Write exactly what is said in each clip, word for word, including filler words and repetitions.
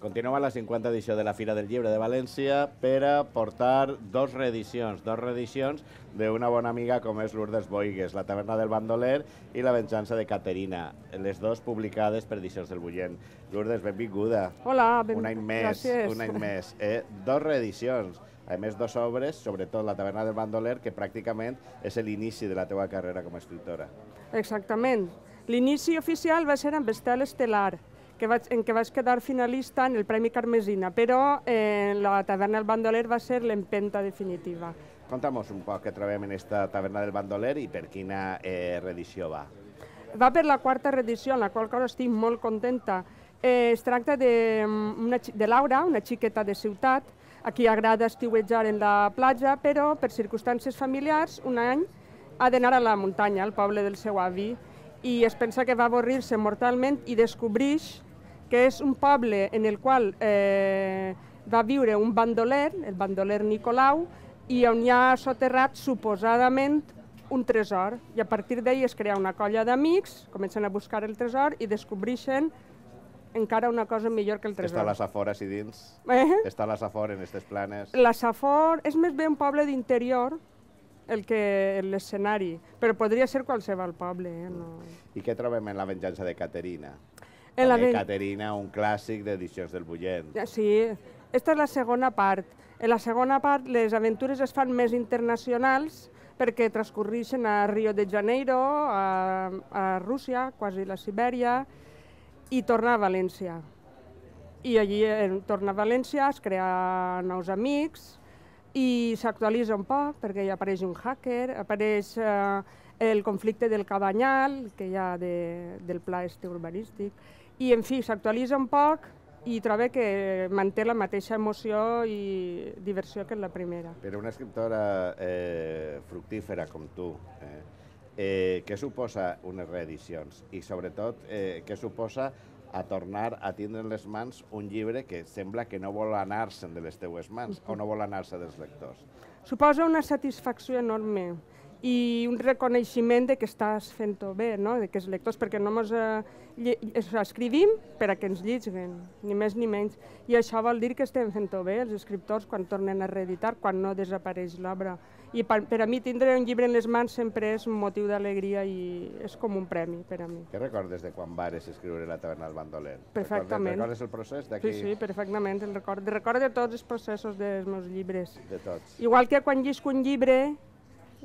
Continua la cinquanta edició de la Fira del Llibre de València per a portar dos reedicions, dos reedicions d'una bona amiga com és Lourdes Boigues, La taverna del bandoler i La venjança de Caterina, les dues publicades per Edicions del Bullent. Lourdes, benvinguda. Hola, ben... un any més, gràcies. un any més. Eh? Dos reedicions, a més dos obres, sobretot La taverna del bandoler, que pràcticament és l'inici de la teva carrera com a escriptora. Exactament. L'inici oficial va ser amb Estel Estel·lar, que vaig, en què vaig quedar finalista en el Premi Carmesina, però eh, La taverna del bandoler va ser l'empenta definitiva. Conta'm un poc què trobem en aquesta taverna del bandoler i per quina eh, reedició va. Va per la quarta reedició, en la qual cosa estic molt contenta. Eh, es tracta de, una, de Laura, una xiqueta de ciutat, a qui agrada estiuejar en la platja, però per circumstàncies familiars un any ha d'anar a la muntanya, al poble del seu avi, i es pensa que va avorrir-se mortalment i descobreix que és un poble en el qual eh, va viure un bandoler, el bandoler Nicolau, i on hi ha soterrat suposadament un tresor. I a partir d'ahir es crea una colla d'amics, comencen a buscar el tresor i descobreixen encara una cosa millor que el tresor. Està la Safor així dins? Eh? Està la Safor en aquestes planes? La Safor és més bé un poble d'interior, el que l'escenari, però podria ser qualsevol poble. Eh? No. I què trobem en La venjança de Caterina? En la També ven... Caterina, un clàssic d'Edicions del Bullent. Sí, aquesta és la segona part. En la segona part les aventures es fan més internacionals perquè transcorreixen a Rio de Janeiro, a, a Rússia, quasi la Sibèria, i torna a València. I allí eh, torna a València, es crea nous amics, i s'actualitza un poc perquè hi apareix un hacker, apareix eh, el conflicte del Cabanyal, que hi ha de, del pla este urbanístic, i en fi, s'actualitza un poc i trobo que manté la mateixa emoció i diversió que en la primera. Per una escriptora eh, fructífera com tu, eh, eh, què suposa unes reedicions? I sobretot, eh, què suposa a tornar a tindre en les mans un llibre que sembla que no vol anar-se'n de les teues mans o no vol anar-se dels lectors? Suposa una satisfacció enorme i un reconeixement de que estàs fent-ho bé, no? De que els lectors, perquè no ens eh, escrivim per a que ens lleguen, ni més ni menys. I això vol dir que estem fent-ho bé, els escriptors, quan tornen a reeditar, quan no desapareix l'obra. I per, per a mi tindre un llibre en les mans sempre és un motiu d'alegria i és com un premi per a mi. Què recordes de quan vares escriure La taverna del bandoler? Perfectament. Recordes, recordes el procés d'aquí? Sí, sí, perfectament. El record, recordo de tots els processos dels meus llibres. De tots. Igual que quan llisc un llibre,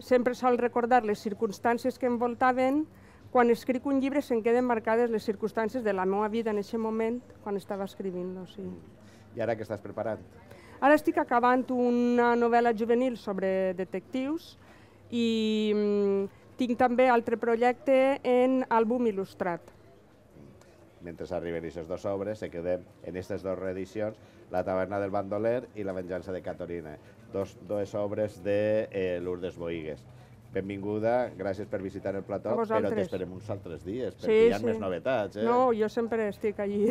sempre sol recordar les circumstàncies que envoltaven. Quan escric un llibre se'n queden marcades les circumstàncies de la meva vida en aquest moment quan estava escrivint-lo. Sí. I ara què estàs preparant? Ara estic acabant una novel·la juvenil sobre detectius i mm, tinc també altre projecte en àlbum il·lustrat. Mentre arriben aquestes dues obres, se quedem en aquestes dues reedicions, La taverna del bandoler i La venjança de Caterina, dos, dues obres de eh, Lourdes Boigues. Benvinguda, gràcies per visitar el plató, però t'esperem uns altres dies, perquè sí, hi ha sí. més novetats. Eh? No, jo sempre estic allí.